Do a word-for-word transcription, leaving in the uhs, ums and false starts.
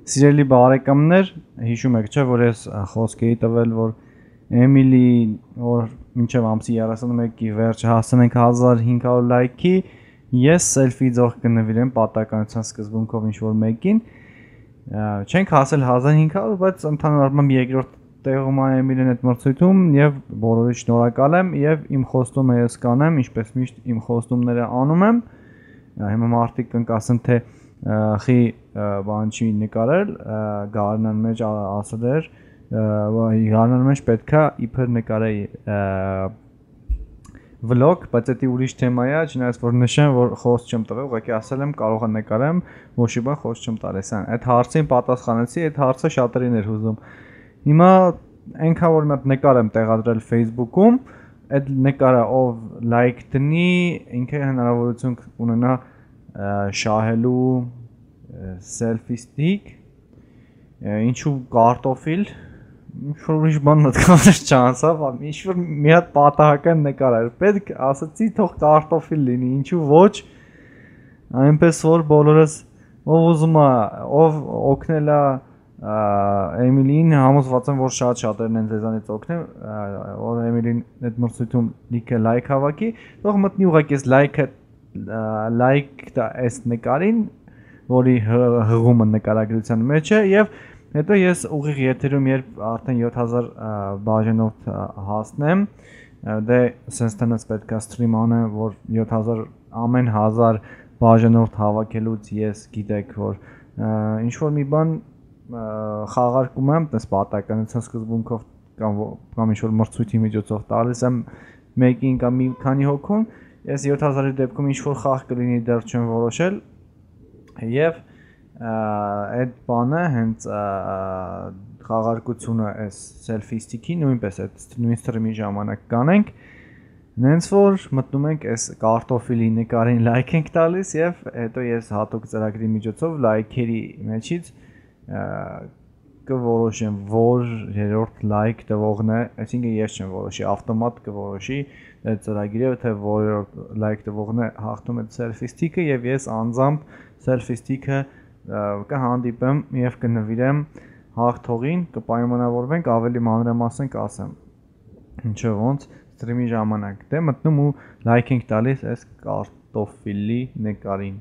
Սիրելի բարեկամներ, հիշում եք չէ, որ ես խոսք էի տվել, որ Էմիլի, որ մինչև ամսի երեսունմեկի վերջը հասնենք հազար հինգ հարյուր լայքի, ես սելֆի ձող կնվիրեմ պատահականության սկզբունքով ինչ-որ մեկին, չենք հասել հազար հինգ հարյուր, բայց ընդհանուր առմամբ երկրորդ տեղում է Էմիլին այդ մրցույթում եւ բոլորի շնորհակալ եմ եւ իմ խոստումը ես կանեմ, ինչպես միշտ իմ խոստումները անում եմ, հիմա մարդիկ կընկասեն թե խի բան չի նկարել, գարնան մեջ ասել էր, գարնան մեջ պետքա իբր նկարեի վլոգ, բայց դա ուրիշ թեմա է, չնայած որ նշեմ, որ խոսք չեմ տվել, ուղղակի ասել եմ կարող եմ նկարեմ, ոչի բան խոսք չեմ տալիս այն։ Այդ հարցին պատասխանեցի, այդ հարցը շատերին էր հուզում։ Հիմա այնքան որ մի հատ նկար եմ տեղադրել Facebook-ում, այդ նկարը ով լայք դնի, ինքը հնարավորություն կունենա շահելու selfie stick, ինչու կարտոֆիլ, ինչ-որ ուրիշ բան նկարել չանցավ, ինչ-որ մի հատ պատահական նկար էր, պետք ասացի թող կարտոֆիլ լինի, ինչու ոչ, այնպես որ բոլորս ով ուզում է, ով օգնել է Էմիլին, համոզված եմ, որ շատ շատերն են ձեզանից օգնել, որ Էմիլին այդ մրցույթում լիքը լայք հավաքի, թող մտնի ուղղակի այս լայքը լայք տա այս նկարին, որի հղումը նկարագրության մեջ է եւ հետո ես ուղիղ եթերում երբ արդեն յոթ հազար բաժանորդ հասնեմ, դե sense տնից պետք է սթրիմ անեմ, որ յոթ հազար ամեն հազար բաժանորդ հավաքելուց ես գիտեք, որ ինչ որ մի բան խաղարկում եմ, տես պատահականության սկզբունքով կամ կամ ինչ որ մրցույթի միջոցով տալիս եմ մեկին կամ մի քանի հոգուն, ես յոթ հազարի դեպքում ինչ որ խաղ կլինի դեռ չեմ որոշել եւ այդ բանը հենց խաղարկությունը այս selfie stick-ի նույնպես այդ նույն սթրիմի ժամանակ կանենք, նենց որ մտնում ենք այս կարտոֆիլի նկարին լայք ենք տալիս եւ հետո ես հատուկ ծրագրի միջոցով լայքերի մեջից կորոշեմ, որ երրորդ լայք տվողն է, այսինքն ես չեմ որոշի, ավտոմատ կորոշի այդ ծրագիրը, թե որրորդ լայք տվողն է հաղթում այդ selfie stick-ը եւ ես անձամբ selfie stick-ը կհանդիպեմ եւ կնվիրեմ հաղթողին, կպայմանավորվենք, ավելի մանրամասն կասեմ։ Ինչը ոնց սթրիմի ժամանակ դե մտնում ու լայք ենք տալիս այս կարտոֆիլի նկարին։